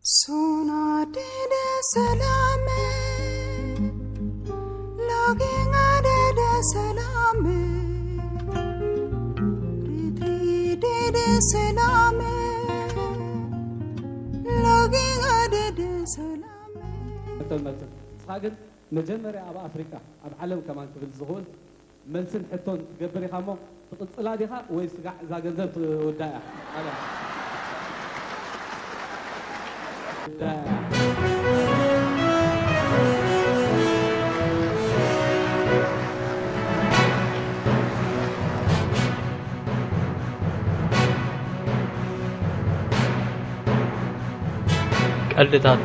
Sona dede salame, login adede salame, riti dede salame, login adede salame. መተን መተን። ንስኻ ግን መጀመርያ ኣብ ኣፍሪቃ፣ ኣብ ዓለም ከማን ክብል ዝኽእል መልስን ሕቶን ትገብር ኢኻ እሞ፣ ትቕጽላ ዲኻ ወይ ስጋዕ እዛ ገንዘብ ትውዳእ እያ? ኣለ። ቀልድታት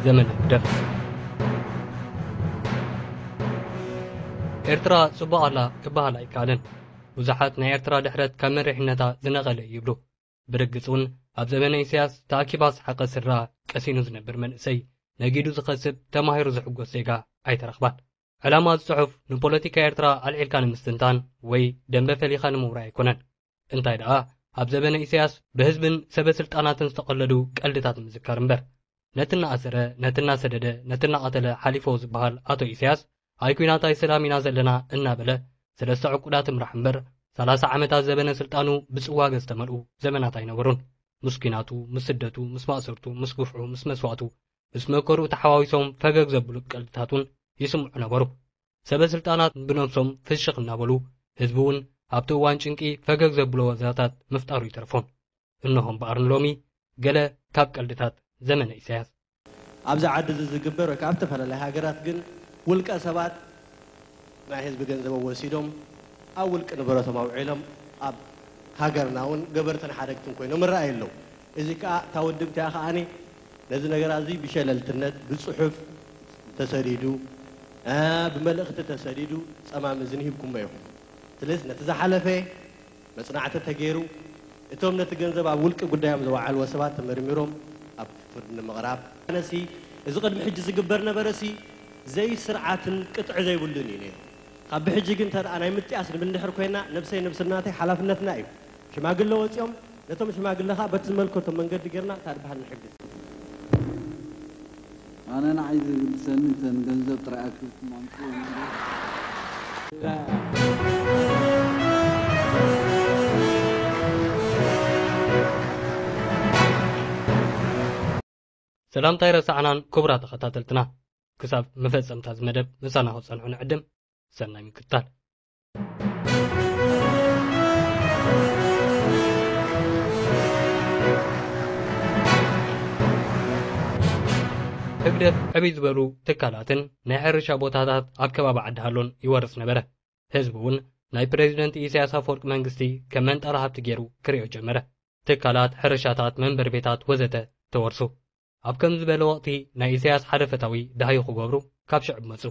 ዘመነ ህግደፍ። ኤርትራ ጽቡቕ ኣላ ክበሃል ኣይከኣልን። ብዙሓት ናይ ኤርትራ ድሕረት ካብ መሪሕነታ ዝነቐለ እዩ ይብሉ። ብርግጽ እውን ኣብ ዘመነ ኢሳያስ ተኣኪባ ዝሰሓቐት ስድራ፣ ቀሲኑ ዝነብር መንእሰይ፣ ነጊዱ ዝኸስብ፣ ተማሂሩ ዝሕጎስ ዜጋ ኣይተረኽባን። ዕላማ እዚ ጽሑፍ ንፖለቲካ ኤርትራ ኣልዒልካ ንምስትንታን ወይ ደንበ ፈሊኻ ንምውራይ ኣይኮነን። እንታይ ደኣ፣ ኣብ ዘበነ ኢሳያስ ብህዝብን ሰበ ስልጣናትን ዝተቐለዱ ቀልድታት ምዝካር እምበር። ነቲ እናኣሰረ፣ ነቲ እናሰደደ፣ ነቲ እናቐተለ ሓሊፎ ዝበሃል ኣቶ ኢሳያስ፣ ኣይ ኲናት ኣይ ሰላም ኢና ዘለና እናበለ፣ ሰለስተ ዕቁዳት እምራሕ እምበር፣ ሰላሳ ዓመታት ዘበነ ስልጣኑ ብጽዋገ ዝተመልኡ ዘመናት ኣይነበሩን። ምስ ኲናቱ፣ ምስ ስደቱ፣ ምስ ማእሰርቱ፣ ምስ ግፍዑ፣ ምስ መስዋእቱ፣ ምስ መከርኡ ተሓዋዊሶም ፈገግ ዘብሉ ቀልድታት እውን ይስምዑ ነበሩ። ሰበ ስልጣናት ብነብሶም ፍሽኽ እናበሉ፣ ህዝቢ እውን ኣብቲ እዋን ጭንቂ ፈገግ ዘብሎ ዋዛታት ምፍጣሩ ይተርፎም። እነሆ እምበኣር ንሎሚ ገለ ካብ ቀልድታት ዘመነ ኢሳያስ። ኣብዚ ዓዲ እዚ ዝግበር ወይ ከዓ ኣብ ዝተፈላለያ ሃገራት ግን ውልቀ ሰባት ናይ ህዝቢ ገንዘብ ወሲዶም ኣብ ውልቂ ንብረቶም ኣውዒሎም ኣብ ሃገርና እውን ገበርትን ሓደግትን ኮይኖም ይረኣዩ ኣለዉ። እዚ ከዓ እታ ውድብቲ እያ ከዓኒ ነዚ ነገራት እዚ ብሸለልትነት ብጽሑፍ ተሰዲዱ፣ እ፣ ብመልእኽቲ ተሰዲዱ ጸማም እዝኒ ሂብኩሞ ኢኹም። ስለዚ ነቲ ዝሓለፈ መጽናዕቲ ተገይሩ፣ እቶም ነቲ ገንዘብ ኣብ ውልቂ ጉዳዮም ዘወዓልዎ ሰባት ተመርሚሮም ኣብ ፍርዲ ንምቕራብ። ኣነሲ እዚ ቅድሚ ሕጂ ዝግበር ነበረሲ ዘይስርዓትን ቅጥዒ ዘይብሉን እዩ ነይሩ። ካብ ብሕጂ ግን እንተ ደኣ ናይ ምጥያስ ንብል እንድሕር ኮይና፣ ነብሰይ ነብሲ ናተይ ሓላፍነትና እዩ። ሽማግለ ወጺኦም፣ ነቶም ሽማግለ ኸኣ በቲ ዝመልከቶም መንገዲ ጌርና እታ ድበሃል ንሕግዝ። ኣነ ንዓይ ዘግድሰኒ እተን ገንዘብ ጥራይ ኣኪብኩም ኣምጽኡ እምበር። ሰላምታ ኣይረሳዕናን ክቡራት ተኸታተልትና። ክሳብ መፈጸምታ እዚ መደብ ምሳና ክጸንሑ ንዕድም። ሰናይ ምክትታል። ህግደፍ ዕብይ ዝበሉ ትካላትን ናይ ሕርሻ ቦታታት ኣብ ከባቢ ዓዲ ሃሎን ይወርስ ነበረ። ህዝቢ እውን ናይ ፕሬዚደንት ኢሳያስ ኣፈወርቂ መንግስቲ ከም መንጣላ ሃብቲ ገይሩ ክሪኦ ጀመረ። ትካላት፣ ሕርሻታት፣ መንበሪ ቤታት ወዘተ ተወርሱ። ኣብ ከምዚ ዝበለ ወቕቲ ናይ ኢሳያስ ሓደ ፈታዊ ደሃዩ ክገብሩ ካብ ሽዕብ መጹ።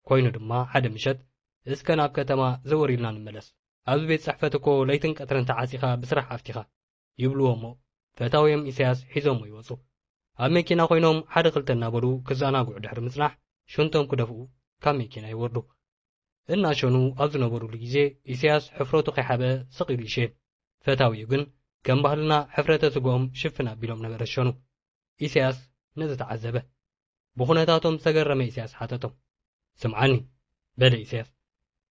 ኮይኑ ድማ ሓደ ምሸት፣ "እስከ ናብ ከተማ ዘወር ኢልና ንመለስ። ኣብዚ ቤት ጽሕፈት እኮ ለይትን ቀትርን ተዓጺኻ ብስራሕ ኣፍቲኻ" ይብልዎ እሞ፣ ፈታውዮም ኢሳያስ ሒዞሞ ይወጹ። ኣብ መኪና ኮይኖም ሓደ ክልተ እናበሉ ክዘናግዑ ድሕሪ ምጽናሕ፣ ሽንቶም ክደፍኡ ካብ መኪና ይወርዱ። እናሸኑ ኣብ ዝነበሩሉ ግዜ፣ ኢሳያስ ሕፍረቱ ከይሓበአ ስቕ ኢሉ ይሸን። ፈታዊኡ ግን ከም ባህልና ሕፍረተ ስግኦም ሽፍን ኣቢሎም ነበረ ዝሸኑ። ኢሳያስ ነዚ ተዓዘበ። ብኹነታቶም ዝተገረመ ኢሳያስ ሓተቶም፣ "ስምዓኒ" በለ ኢሳያስ፣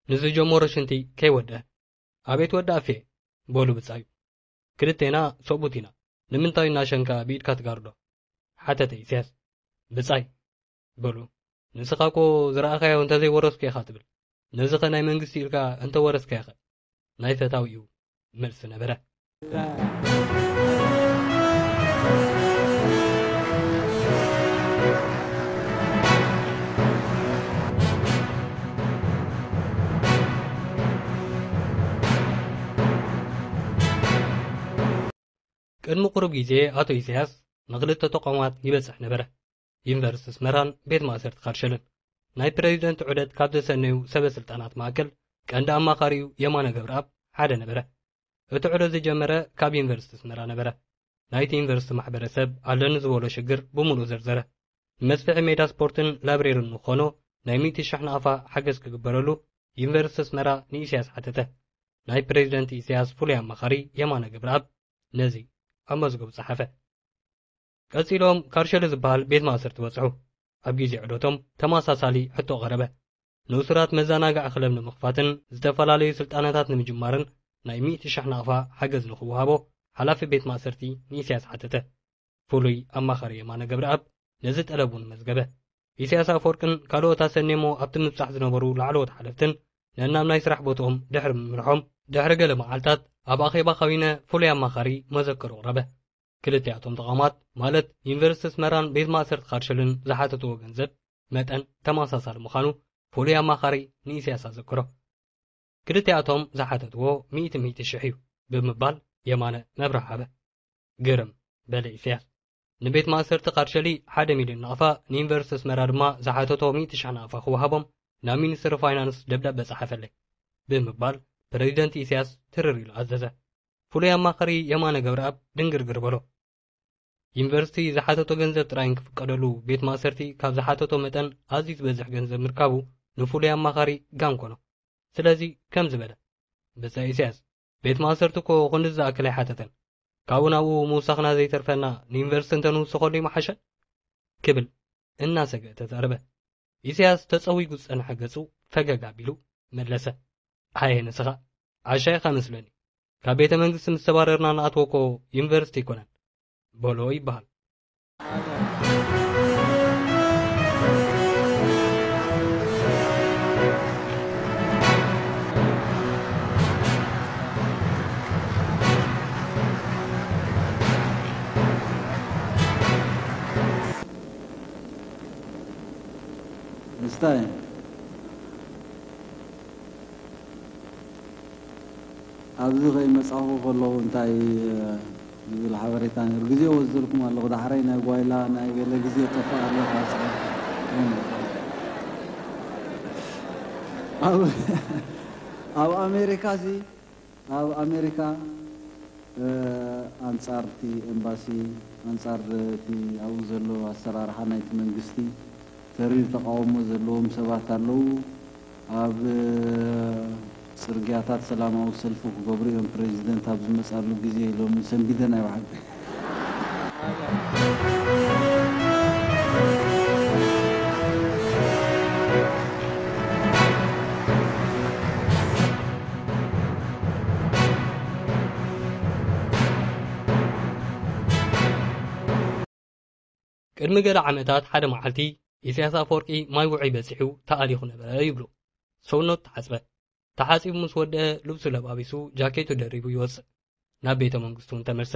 "ንዝጀመሮ ሽንቲ ከይወድአ?" "ኣቤት ወዲ ኣፌ" በሉ ብጻዩ። "ክልቴና ሰብኡት ኢና፣ ንምንታይ እናሸንካ ብኢድካ ትጋርዶ?" ሓተተ ኢሳያስ። "ብጻይ" በሉ፣ "ንስኻ እኮ ዝረኣኻዮ እንተዘይወረስኩ ኢኻ ትብል፣ ነዚ ኸ ናይ መንግስቲ ኢልካ እንተወረስካዮ ኸ?" ናይ ፈታዊኡ መልሲ ነበረ። ቅድሚ ቁሩብ ግዜ ኣቶ ኢሳያስ ንክልተ ተቋማት ይበጽሕ ነበረ። ዩኒቨርሲቲ ኣስመራን ቤት ማእሰርቲ ካርሸልን። ናይ ፕሬዚደንት ዑደት ካብ ዘሰነዩ ሰበ ስልጣናት ማእከል ቀንዲ ኣማኻሪኡ የማነ ገብረኣብ ሓደ ነበረ። እቲ ዑደት ዝጀመረ ካብ ዩኒቨርሲቲ ኣስመራ ነበረ። ናይቲ ዩኒቨርሲቲ ማሕበረሰብ ኣለኒ ዝበሎ ሽግር ብምሉእ ዘርዘረ። ንመስፍሒ ሜዳ ስፖርትን ላይብሬርን ንኾኖ ናይ ሚእቲ ሽሕ ናቕፋ ሓገዝ ክግበረሉ ዩኒቨርሲቲ ኣስመራ ንኢሳያስ ሓተተ። ናይ ፕሬዚደንት ኢሳያስ ፍሉይ ኣማኻሪ የማነ ገብረኣብ ነዚ ኣብ መዝገቡ ጸሓፈ። ቀጺሎም ካርሸሊ ዝበሃል ቤት ማእሰርቲ በጽሑ። ኣብ ግዜ ዑደቶም ተመሳሳሊ ሕቶ ቀረበ። ንእሱራት መዘናግዒ ክለብ ንምኽፋትን ዝተፈላለዩ ስልጠናታት ንምጅማርን ናይ ሚእቲ ሽሕ ናቕፋ ሓገዝ ንኽወሃቦ ሓላፊ ቤት ማእሰርቲ ንኢሳያስ ሓተተ። ፍሉይ ኣማኻሪ የማነ ገብረኣብ ነዚ ጠለብ እውን መዝገበ። ኢሳያስ ኣፈወርቅን ካልኦት ኣሰንዮሞ ኣብቲ ምብጻሕ ዝነበሩ ላዕለዎት ሓለፍትን ነናብ ናይ ስራሕ ቦትኦም ድሕሪ ምምርሖም፣ ድሕሪ ገለ መዓልታት ኣብ ኣኼባ ካቢነ ፍሉይ ኣማኻሪ መዘክሩ ኣቕረበ። ክልቲኣቶም ተቋማት፣ ማለት ዩኒቨርሲቲ ኣስመራን ቤት ማእሰርቲ ካርሸልን ዝሓተትዎ ገንዘብ መጠን ተመሳሳሊ ምዃኑ ፍሉይ ኣማኻሪ ንኢሳያስ ኣዘክሮ። ክልቲኣቶም ዝሓተትዎ ሚእቲ ሚእቲ ሽሕ እዩ ብምባል የማነ መብርሂ ሃበ። ግርም፣ በለ ኢሳያስ። ንቤት ማእሰርቲ ካርሸሊ ሓደ ሚልዮን ናቕፋ፣ ንዩኒቨርሲቲ ኣስመራ ድማ ዝሓተቶ ሚእቲ ሽሕ ናቕፋ ክወሃቦም ናብ ሚኒስትሪ ፋይናንስ ደብዳበ ጸሓፈለይ ብምባል ፕረዚደንት ኢሳያስ ትርር ኢሉ ኣዘዘ። ፍሉይ ኣማኻሪ የማነ ገብረኣብ ድንግርግር በሎ። ዩኒቨርሲቲ ዝሓተቶ ገንዘብ ጥራይ እንክፍቀደሉ ቤት ማእሰርቲ ካብ ዝሓተቶ መጠን ኣዝዩ ዝበዝሕ ገንዘብ ምርካቡ ንፍሉይ ኣማኻሪ ጋም ኮኖ። ስለዚ ከምዚ በለ፣ ብጻይ ኢሳያስ፣ ቤት ማእሰርቲ እኮ ክንድዚ ዝኣክል ኣይሓተተን። ካብኡ ናብኡ ምውሳኽና ዘይተርፈና ንዩኒቨርሲቲ እንተንውስኸሉ ይመሓሸ ክብል እናሰግአ ተዛረበ። ኢሳያስ ተጸዊጉ ዝጸንሐ ገጹ ፈገግ ኣቢሉ መለሰ። ኣየ ንስኻ ዓሻ ኢኻ መስለኒ። ካብ ቤተ መንግስቲ ምስ ተባረርና ንኣትዎ እኮ ዩኒቨርሲቲ ኣይኮነን በሎ ይበሃል። ምስታይ ኣብዚ ከይመጻኹ ከለኹ እንታይ ዝብል ሓበሬታ ነይሩ? ግዜ ወስደልኩም ኣለኹ። ዳሕራይ ናይ ጓይላ ናይ ገለ ግዜ ጠፍእ ኣለኹ። ኣብ ኣብ ኣሜሪካ ሲ ኣብ ኣሜሪካ ኣንጻር እቲ ኤምባሲ፣ ኣንጻር እቲ ኣብኡ ዘሎ ኣሰራርሓ ናይቲ መንግስቲ ተሪር ተቃውሞ ዘለዎም ሰባት ኣለዉ። ኣብ ጽርግያታት ሰላማዊ ሰልፊ ክገብሩ እዮም ፕሬዚደንት ኣብ ዝመጻሉ ግዜ ኢሎም ሰንቢደን። ኣይ ብሓቂ። ቅድሚ ገለ ዓመታት ሓደ መዓልቲ ኢሳያስ ኣፈወርቂ ማይ ውዑይ በጺሑ ተኣሊኹ ነበረ ይብሉ። ሰውነቱ ተሓጽበ። ተሓጺቡ ምስ ወደአ ልብሱ ለባቢሱ ጃኬቱ ደሪቡ ይወጽእ። ናብ ቤተ መንግስቱ እውን ተመልሰ።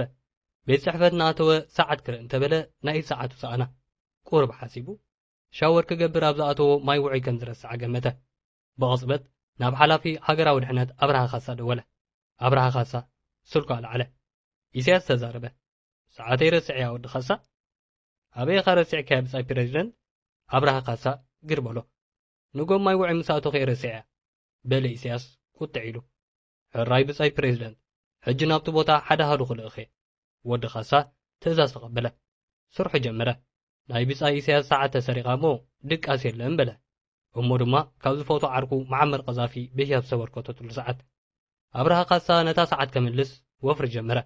ቤት ጽሕፈት እናኣተወ ሰዓት ክርኢ እንተበለ ናይ ኢድ ሰዓቱ ሰኣና። ቁሩብ ሓሲቡ ሻወር ክገብር ኣብ ዝኣተዎ ማይ ውዑይ ከም ዝረስዓ ገመተ። ብቕጽበት ናብ ሓላፊ ሃገራዊ ድሕነት ኣብርሃ ካሳ ደወለ። ኣብርሃ ካሳ ስልኩ ኣለዓለ። ኢሳያስ ተዛረበ። ሰዓተይ ረሲዐያ ወዲ ካሳ። ኣበይ ኢኻ ረሲዕካያ ብጻይ ፕረዚደንት? ኣብርሃ ካሳ ግር በሎ። ንጎም ማይ ውዑይ ምስ ኣተኹ እየ ረሲዐያ በለ ኢሳያስ ቁጥዕ ኢሉ። ሕራይ ብጻይ ፕረዚደንት፣ ሕጂ ናብቲ ቦታ ሓደ ኣሃዱ ክልእኽ እየ። ወዲ ካሳ ትእዛዝ ተቐበለ። ስርሑ ጀመረ። ናይ ብጻይ ኢሳያስ ሰዓት ተሰሪቓ እሞ ድቃስ የለን በለ። እሞ ድማ ካብ ዝፈትዎ ዓርኩ መዓመር ቀዛፊ ብህያብ ዝተበርከተትሉ ሰዓት። ኣብርሃ ካሳ ነታ ሰዓት ከምልስ ወፍሪ ጀመረ።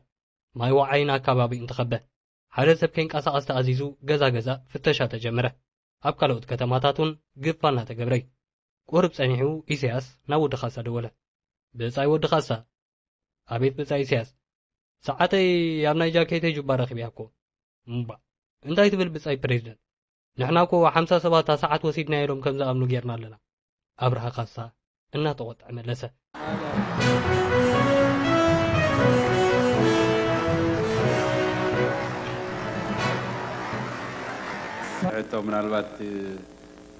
ማይ ወዓይን ኣካባቢኡን ተኸበ። ሓደ ሰብ ከይንቀሳቐስ ተኣዚዙ ገዛ ገዛ ፍተሻ ተጀመረ። ኣብ ካልኦት ከተማታት እውን ግፋ እናተገብረ እዩ። ቁሩብ ጸኒሑ ኢሳያስ ናብ ወዲ ካሳ ደወለ። ብጻይ ወዲ ካሳ። ኣቤት ብጻይ ኢሳያስ። ሰዓተይ ኣብ ናይ ጃኬተይ ጁባ ረኺበያ እኮ። እምባ። እንታይ ትብል ብጻይ ፕሬዚደንት? ንሕና እኮ ሓምሳ ሰባት እታ ሰዓት ወሲድናያ ኢሎም ከም ዝኣምኑ ጌርና ኣለና። ኣብርሃ ካሳ እናተቖጥዐ መለሰ። ሕቶ ምናልባት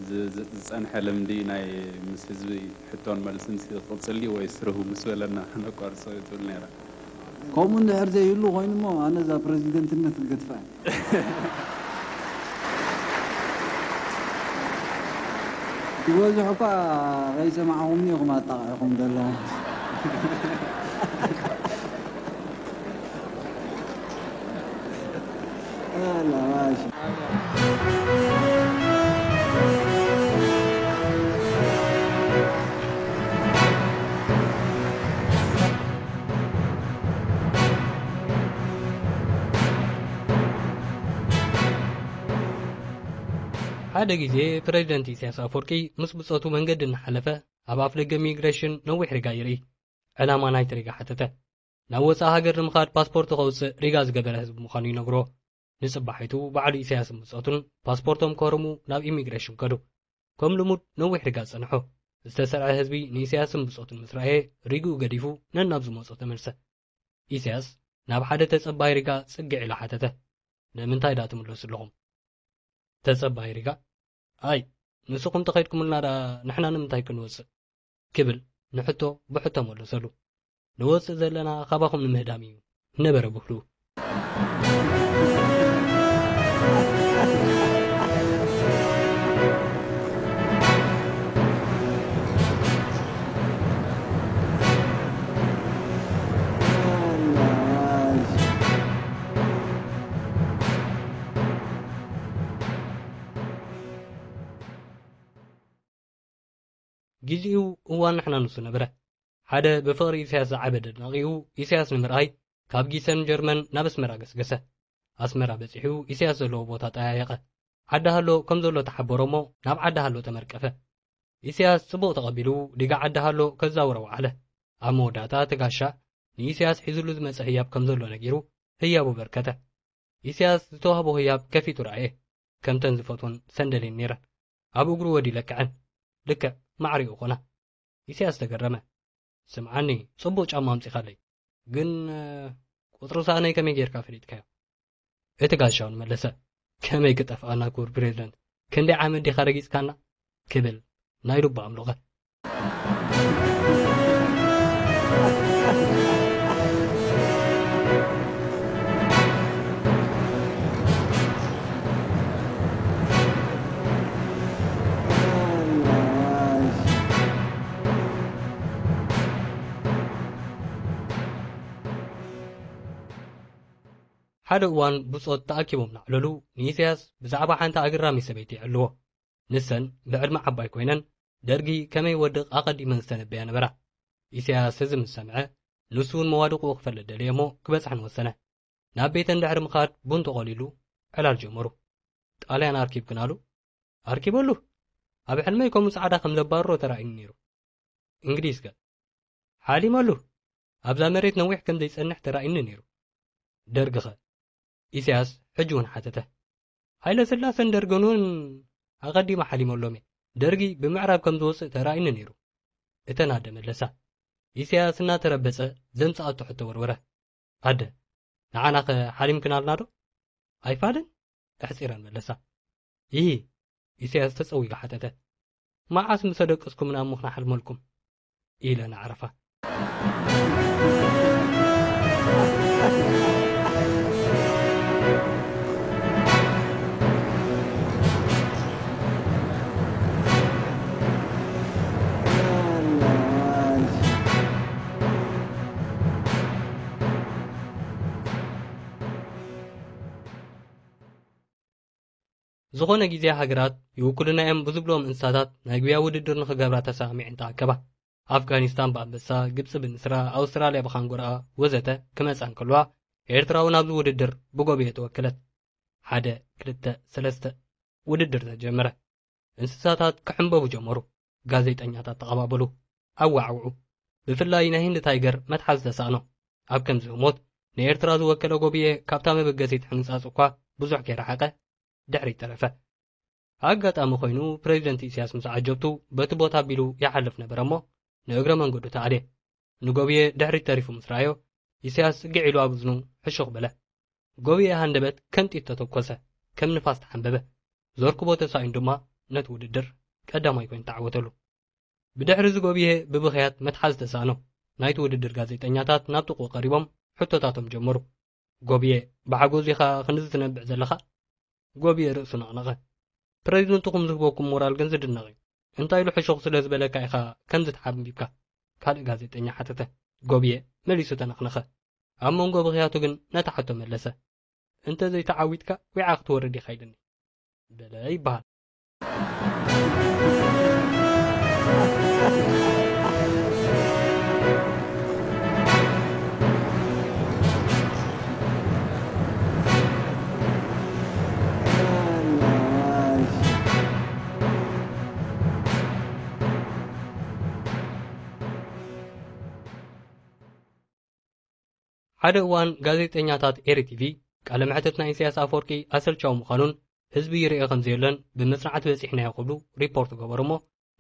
ዝ-፣ ዝ-፣ ዝጸንሐ ልምዲ ናይ ምስ ህዝቢ ሕቶን መልስን ሲ ክቕጽል ድዩ ወይስ ርህው ምስ በለና ነቋርጾ እዩ ትብል ነይራ። ከምኡ እንድሕር ዘይህሉ ኮይኑ እሞ ኣነ እዛ ፕረዚደንትነት ክገድፋ እየ። ዝበዝሑ እኳ ከይሰማዕኹምኒ ኢኹም ኣጣቒዕኹም ዘለኹም። ኣላ ማሽ። ሓደ ግዜ ፕረዚደንት ኢሳያስ ኣፈወርቂ ምስ ብጾቱ መንገዲ እናሓለፈ ኣብ ኣፍ ደገ ሚግሬሽን ነዊሕ ሪጋ ይርኢ። ዕላማ ናይቲ ሪጋ ሓተተ። ናብ ወጻኢ ሃገር ንምኻድ ፓስፖርት ከውጽእ ሪጋ ዝገበረ ህዝቢ ምዃኑ ይነግሮ። ንጽባሒቱ ባዕሉ ኢሳያስን ብጾቱን ፓስፖርቶም ከርሙ ናብ ኢሚግሬሽን ከዱ። ከም ልሙድ ነዊሕ ሪጋ ጸንሑ። ዝተሰርዐ ህዝቢ ንኢሳያስን ብጾቱን ምስ ረኣየ ሪግኡ ገዲፉ ነናብ ዝመጾ ተመልሰ። ኢሳያስ ናብ ሓደ ተጸባይ ሪጋ ጽግዕ ኢሉ ሓተተ። ንምንታይ ደኣ ትምለሱ ኣለኹም? ተጸባይ ሪጋ፣ ኣይ ንስኹም ተኸድኩምልና ደኣ ንሕና ንምንታይ ክንወጽእ? ክብል ንሕቶ ብሕቶ መለሰሉ። ንወጽእ ዘለና ካባኹም ንምህዳም እዩ ነበረ ብህሉ። ግዜኡ እዋን ንሕና ንሱ ነበረ። ሓደ ብፍቕሪ ኢሳያስ ዝዓበደ ኣድናቒኡ ኢሳያስ ንምርኣይ ካብ ጊሰን ጀርመን ናብ ኣስመራ ገስገሰ። ኣስመራ በጺሑ ኢሳያስ ዘለዎ ቦታ ጠያየቐ። ዓዲ ሃሎ ከም ዘሎ ተሓበሮ እሞ ናብ ዓዲ ሃሎ ተመርቀፈ። ኢሳያስ ጽቡቕ ተቐቢሉ ዲጋ ዓዲ ሃሎ ከዛውሮ ወዓለ። ኣብ መወዳእታ እቲ ጋሻ ንኢሳያስ ሒዙሉ ዝመጸ ህያብ ከም ዘሎ ነጊሩ ህያቡ በርከተ። ኢሳያስ ዝተዋህቦ ህያብ ከፊቱ ረኣየ። ከምተን ዝፈትወን ሰንደል እየን ነይረን። ኣብ እግሩ ወዲለ ከዐን። ልክዕ ማዕሪኡ ኾና። ኢሳያስ ተገረመ። ስምዓኒ፣ ጽቡቕ ጫማ ኣምጺኻለይ። ግን፣ እ፣ ቁጽሪ ሳእነይ ከመይ ጌርካ ፈሊጥካዮ? እቲ ጋሻውን መለሰ። ከመይ ክጠፍኣና ክቡር ፕሬዝደንት? ክንደይ ዓመት ዲኻ ረጊጽካና? ክብል ናይ ልቡ ኣምለቐ። ሓደ እዋን ብጾት ተኣኪቦም እናዕለሉ ንኢሳያስ ብዛዕባ ሓንቲ ኣገራሚ ሰበይቲ ይዕልዎ። ንሰን ብዕድመ ዓባይ ኮይነን ደርጊ ከመይ ወድቕ ኣቐዲመን ዝተነበያ ነበራ። ኢሳያስ እዚ ምስ ሰምዐ ንሱ እውን መዋድቕኡ ክፈልጥ ደለየ እሞ ክበጽሐን ወሰነ። ናብ ቤተን ድሕሪ ምኻድ ቡን ተቖሊሉ ዕላል ጀመሩ። ጣልያን ኣርኪብክን ኣሉ? ኣርኪበሉ። ኣብ ሕልመይ ከምኡ ጻዕዳ ከም ዘባርሮ ተራእዩኒ ነይሩ። እንግሊዝ ከ? ሓሊመሉ። ኣብዛ መሬት ነዊሕ ከም ዘይጸንሕ ተራእዩኒ ነይሩ። ደርጊ ኸ? ኢሳያስ ሕጂ እውን ሓተተ። ሃይለ ስላሰን ደርግን እውን ኣቐዲመ ሓሊመሎም እየ። ደርጊ ብምዕራብ ከም ዝወጽእ ተራእዩኒ ነይሩ። እተን ኣደ መለሳ። ኢሳያስ እናተረበጸ ዘምጽኣቶ ሕቶ ወርወረ። ኣደ፣ ንዓናኸ ሓሊምክናልና ዶ? ኣይፋልን? ኣሕጺረን መለሳ። ይሂ፣ ኢሳያስ ተጸዊጉ ሓተተ። መዓስ ምስ ኣደቀስኩምና እሞ ክነሓልመልኩም? ኢለ እናዕረፋ። ዝኾነ ግዜ ሃገራት ይውክሉና እዮም ብዝብልዎም እንስሳታት ናይ ጉያ ውድድር ንኽገብራ ተሰማሚዐን ተኣከባ። ኣፍጋኒስታን ብኣንበሳ፣ ግብጺ ብንስራ፣ ኣውስትራልያ ብኻንጎርኣ ወዘተ ክመጻ እንከለዋ፣ ኤርትራ እውን ኣብዚ ውድድር ብጎብየ ተወከለት። ሓደ፣ ክልተ፣ ሰለስተ፣ ውድድር ተጀመረ። እንስሳታት ክሕንበቡ ጀመሩ። ጋዜጠኛታት ተቐባበሉ፣ ኣዋዕውዑ። ብፍላይ ናይ ህንዲ ታይገር መትሓዚ ተሳእኖ። ኣብ ከምዚ ህሞት ንኤርትራ ዝወከለ ጎብየ ካብታ መበገሲት ሕንጻጽ እኳ ብዙሕ ከይረሓቐ ድሕሪት ተረፈ። ኣጋጣሚ ኮይኑ ፕሬዚደንት ኢሳያስ ምስ ዓጀብቱ በቲ ቦታ ኣቢሉ ይሓልፍ ነበረ እሞ ንእግረ መንገዱ ተኣልየ። ንጎብየ ድሕሪት ተሪፉ ምስ ረኣዮ ኢሳያስ ጽግዕ ኢሉ ኣብ እዝኑ ሕሹኽ በለ። ጎብየ ሃንደበት ከም ጥይት ተተኮሰ፣ ከም ንፋስ ተሓንበበ። ዘርክቦ ተሳኢኑ ድማ ነቲ ውድድር ቀዳማይ ኮይኑ ተዓወተሉ። ብድሕሪ እዚ ጎብየ ብብኽያት መትሓዚ ተሳእኖ። ናይቲ ውድድር ጋዜጠኛታት ናብ ጥቕኡ ቀሪቦም ሕቶታቶም ጀመሩ። ጎብየ፣ ብሓጎስ ኢኻ ክንድዚ ትነብዕ ዘለኻ? ጎብየ ርእሱ ነቕነቐ። ፕረዚደንትኹም ዝህበኩም ሞራል ግን ዝድነቕ እዩ። እንታይ ኢሉ ሕሹኽ ስለ ዝበለካ ኢኻ ከምዚ ተሓንቢብካ? ካልእ ጋዜጠኛ ሓተተ። ጎብየ መሊሱ ተነኽነኸ። ኣብ መንጎ ብኽያቱ ግን ነታ ሕቶ መለሰ። እንተ ዘይተዓዊትካ ዊዓ ክትወርድ ኢኻ ኢልኒ በለ ይበሃል። ሓደ እዋን ጋዜጠኛታት ኤሪ ቲቪ ቃለ መሕትት ናይ ኢሳያስ ኣፈወርቂ ኣሰልቻዊ ምዃኑን ህዝቢ ይርኤ ከም ዘየለን ብመጽናዕቲ በጺሕናዮ ክብሉ ሪፖርት ገበሩ እሞ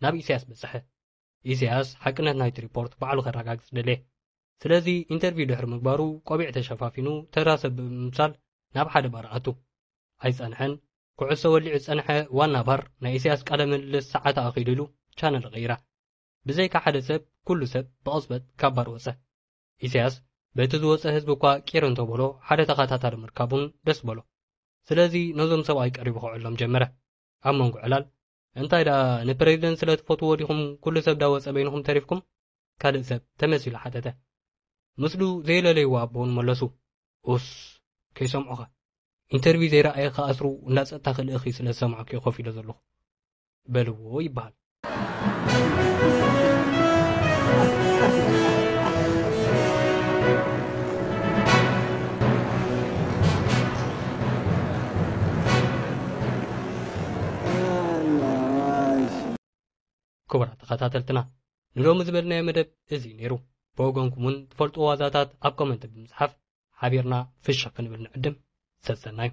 ናብ ኢሳያስ በጽሐ። ኢሳያስ ሓቅነት ናይቲ ሪፖርት ባዕሉ ከረጋግጽ ደልየ። ስለዚ ኢንተርቪው ድሕሪ ምግባሩ ቆቢዕ ተሸፋፊኑ ተራ ሰብ ብምምሳል ናብ ሓደ ባር ኣቱ። ኣይጸንሐን። ኩዕሶ ወሊዑ ዝጸንሐ ዋና ባር ናይ ኢሳያስ ቃለ ምልልስ ሰዓት ኣኺሉ ኢሉ ቻነል ቀይራ። ብዘይካ ሓደ ሰብ ኩሉ ሰብ ብቕጽበት ካብ ባር ወጸ። ኢሳያስ በቲ ዝወጸ ህዝቢ እኳ ቂር እንተበሎ ሓደ ተኸታታሊ ምርካቡን ደስ በሎ። ስለዚ ነዞም ሰብኣይ ቀሪቡ ክዕሎም ጀመረ። ኣብ መንጎ ዕላል እንታይ ደኣ ንፕሬዚደንት ስለ ትፈትዎ ዲኹም ኩሉ ሰብ ዳወጸ በይንኹም ተሪፍኩም? ካልእ ሰብ ተመሲሉ ሓተተ። ምስሉ ዘየለለይዎ ኣቦ እውን መለሱ። ኡስ ከይሰምዑኻ። ኢንተርቪው ዘይረኣየ ክኣስሩ እንዳ ጸጥታ ክልእኺ ስለ ዝሰማዕኩ ኮፍ ኢለ ዘለኹ በልዎ ይበሃል። ክቡራት ተኸታተልትና ንሎሚ ዝበልናዮ መደብ እዚ ነይሩ። ብወገንኩም እውን ትፈልጥዎ ዋዛታት ኣብ ኮመንት ብምጽሓፍ ሓቢርና ፍሽኽ ክንብል ንዕድም። ሰሰናዩ።